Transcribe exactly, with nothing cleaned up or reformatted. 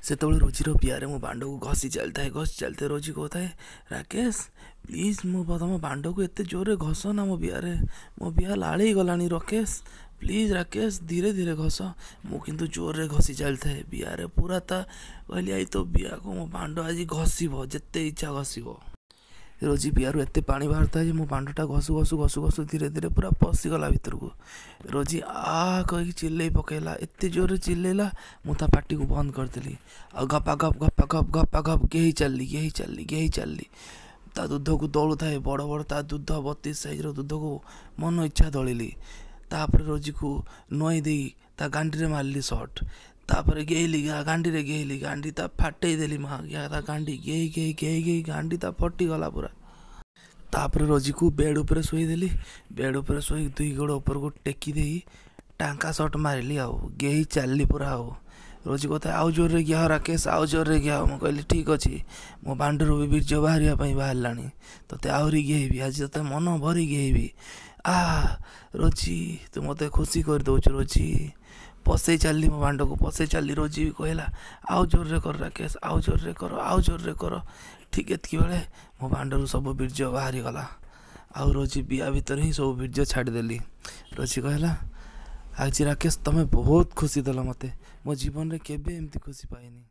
ସେତେବେଳେ ରୋଜିର ବିଆରେ ମୋ ବାଣ୍ଡକୁ ଘଷି ଚାଲିଥାଏ, ଘଷି ଚାଲିଥାଏ। ରୋଜି କହୁଥାଏ, ରାକେଶ ପ୍ଲିଜ୍, ମୋ ତମ ବାଣ୍ଡକୁ ଏତେ ଜୋରରେ ଘଷ ନା ମୋ ବିଆରେ, ମୋ ବିଆ ଲାଳେଇ ଗଲାଣି। ରାକେଶ ପ୍ଲିଜ୍, ରାକେଶ ଧୀରେ ଧୀରେ ଘଷ। ମୁଁ କିନ୍ତୁ ଜୋରରେ ଘଷି ଚାଲିଥାଏ ବିଆରେ ପୁରା। ତା କହିଲି, I ତୋ ବିଆକୁ ମୋ ବାଣ୍ଡ ଆଜି ଘଷିବ, ଯେତେ ଇଚ୍ଛା ଘଷିବ। ରୋଜି ବିଆରୁ ଏତେ ପାଣି ବାହାରୁଥାଏ ଯେ ମୋ ବାଣ୍ଡଟା ଘଷୁ ଘଷୁ ଘଷୁ ଘଷୁ ଧୀରେ ଧୀରେ ପୁରା ପଶିଗଲା ଭିତରକୁ। ରୋଜି ଆ କହିକି ଚିଲ୍ଲେଇ ପକେଇଲା, ଏତେ ଜୋରରେ ଚିଲ୍ଲେଇଲା ମୁଁ ତା ପାଟିକୁ ବନ୍ଦ କରିଦେଲି ଆଉ ଗପା ଗପ ଗପା ଗପ ଗପା ଗପ ଗେହି ଚାଲିଲି, ଗେହି ଚାଲିଲି, ଗେହି ଚାଲିଲି। ତା ଦୁଧକୁ ଦଳୁଥାଏ, ବଡ଼ ବଡ଼ ତା ଦୁଧ, ବତିଶ ସାଇଜ୍ର ଦୁଧକୁ ମନ ଇଚ୍ଛା ଦଳିଲି। ତାପରେ ରୋଜିକୁ ନୁଆଇଁ ଦେଇ ତା ଗାଣ୍ଡିରେ ମାରିଲି ସଟ୍। ତାପରେ ଗେହିଲି, ଗାଣ୍ଡିରେ ଗେହିଲି, ଗାଣ୍ଡି ତା ଫାଟେଇ ଦେଲି। ମା ତା ଗାଣ୍ଡି ଗେହି ଗେହି ଗେହି ଗେହି ଗାଣ୍ଡି ତା ଫଟିଗଲା ପୁରା। ତାପରେ ରୋଜିକୁ ବେଡ଼୍ ଉପରେ ଶୋଇଦେଲି। ବେଡ଼୍ ଉପରେ ଶୋଇ ଦୁଇ ଗୋଡ଼ ଉପରକୁ ଟେକି ଦେଇ ଟାଙ୍କା ସଟ୍ ମାରିଲି ଆଉ ଗେହି ଚାଲିଲି ପୁରା। ଆଉ ରୋଜି କଥା, ଆଉ ଜୋରରେ ଗିହା ରାକେଶ, ଆଉ ଜୋରରେ ଗିହା। ମୁଁ କହିଲି, ଠିକ୍ ଅଛି, ମୋ ବାଣ୍ଡରୁ ବି ବୀର୍ଯ୍ୟ ବାହାରିବା ପାଇଁ ବାହାରିଲାଣି, ତୋତେ ଆହୁରି ଗେହିବି ଆଜି, ତୋତେ ମନ ଭରି ଗେହିବି। ଆ ରୋଜି, ତୁ ମୋତେ ଖୁସି କରିଦେଉଛୁ ରୋଜି। ପଶେଇ ଚାଲିଲି ମୋ ବାଣ୍ଡକୁ, ପଶେଇ ଚାଲିଲି। ରୋଜି ବି କହିଲା, ଆଉ ଜୋରରେ କର ରାକେଶ, ଆଉ ଜୋରରେ କର, ଆଉ ଜୋରରେ କର। ଠିକ୍ ଏତିକି ବେଳେ ମୋ ବାଣ୍ଡରୁ ସବୁ ବୀର୍ଯ୍ୟ ବାହାରିଗଲା ଆଉ ରୋଜି ବିଆ ଭିତରେ ହିଁ ସବୁ ବୀର୍ଯ୍ୟ ଛାଡ଼ିଦେଲି। ରୋଜି କହିଲା, ଆଜି ରାକେଶ ତମେ ବହୁତ ଖୁସି ଦେଲ ମୋତେ, ମୋ ଜୀବନରେ କେବେ ଏମିତି ଖୁସି ପାଇନି।